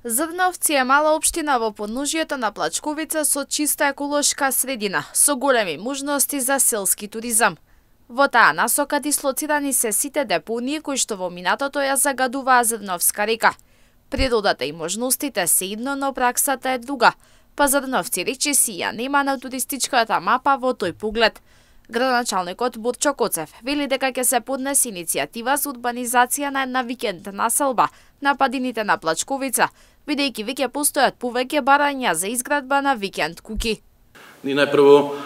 Зрновци е мала општина во подножието на Плачковица со чиста еколошка средина, со големи можности за селски туризам. Во таа насока дислоцирани се сите депонии кои што во минатото ја загадуваа Зрновска река. Природата и можностите се едно, но праксата е друга. Па Зрновци речиси ја нема на туристичката мапа во тој поглед. Градоначалникот Борчо Коцев вели дека ќе се поднесе иницијатива за урбанизација на една викенд населба на падините на Плачковица, бидејќи веќе постојат повеќе барања за изградба на викенд куќи. Ние најпрво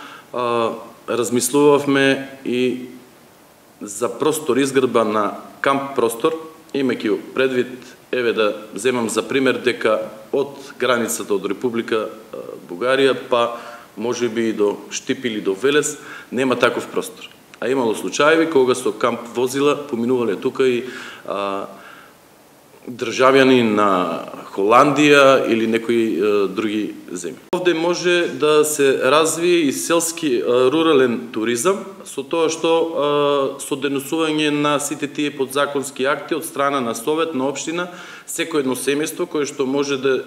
размислувавме и за простор изградба на камп простор, имајќи предвид, да земам за пример дека од границата од Република Бугарија па може би и до Штип или до Велес нема таков простор. А имало случаеви кога со камп возила поминувале тука и државјани на Холандија или некои други земји. Овде може да се развие и селски рурален туризам со тоа што со деносување на сите тие подзаконски акти од страна на Совет на општина, секој едно семејство кое што може да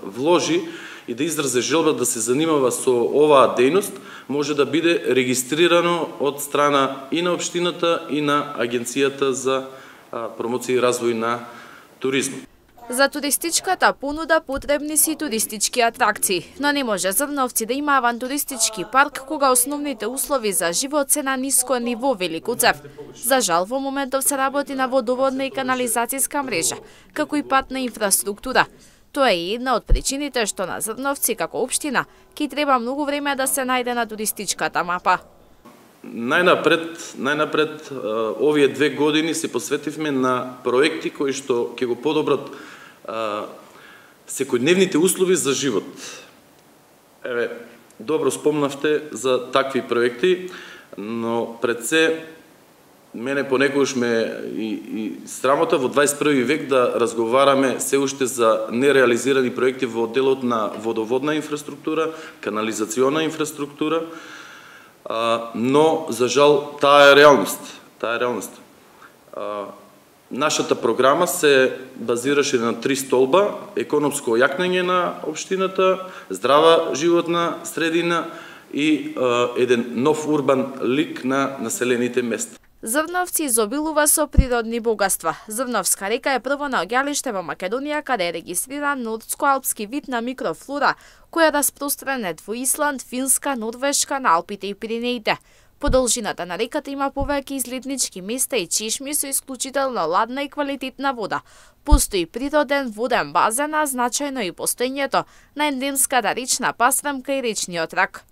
вложи и да изрази желба да се занимава со оваа дејност, може да биде регистрирано од страна и на општината и на Агенцијата за промоција и развој на туризмот. За туристичката понуда потребни си туристички атракции, но не може Зрновци да има авантуристички парк кога основните услови за живот се на ниско ниво, вели Коцев. За жал, во моментов се работи на водоводна и канализацијска мрежа, како и патна инфраструктура. Тоа е една од причините што на Зрновци како општина ќе треба многу време да се најде на туристичката мапа. Најнапред овие 2 години се посветивме на проекти кои што ќе го подобрат секојдневните услови за живот. Добро спомнавте за такви проекти, но пред се мене понекогаш ме и срамота во 21 век да разговараме се уште за нереализирани проекти во делот на водоводна инфраструктура, канализациона инфраструктура, но за жал таа е реалност. Нашата програма се базираше на 3 столба: економско ојакнење на општината, здрава животна средина и еден нов урбан лик на населените места. Зрновци изобилува со природни богатства. Зрновска река е прво наоѓалиште во Македонија каде е регистриран нордско-алпски вид на микрофлора, која е распространет во Исланд, Финска, Норвешка, на Алпите и Пиренеите. По должината на реката има повеќе излетнички места и чешми со исклучително ладна и квалитетна вода. Постои природен воден базен, а значајно и постоењето на ендемската речна пасрамка и речниот рак.